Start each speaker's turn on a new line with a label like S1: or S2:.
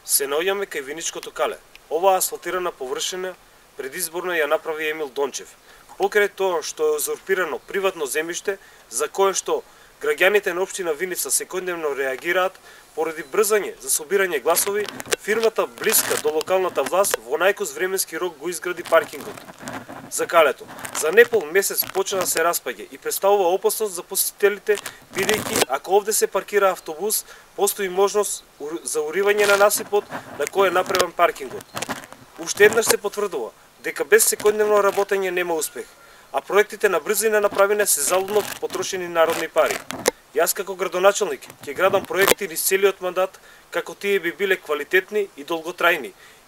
S1: Се наоѓаме кај Виничкото кале. Оваа асфалтирана површина предизборно ја направи Емил Дончев. Покрај тоа што е узурпирано приватно земјиште, за кое што граѓаните на општина Виница секојдневно реагираат, поради брзање за собирање гласови, фирмата блиска до локалната власт во најкус временски рок го изгради паркингот за калето. За непол месец почна да се распаѓа и представува опасност за посетителите, бидејќи ако овде се паркира автобус, постои можност за уривање на насипот на кој е направен паркингот. Уште еднаш се потврдува дека без секојдневно работење нема успех, а проектите на брзина направени се залудно потрошени народни пари. Јас како градоначелник ќе градам проекти низ целиот мандат како тие би биле квалитетни и долготрајни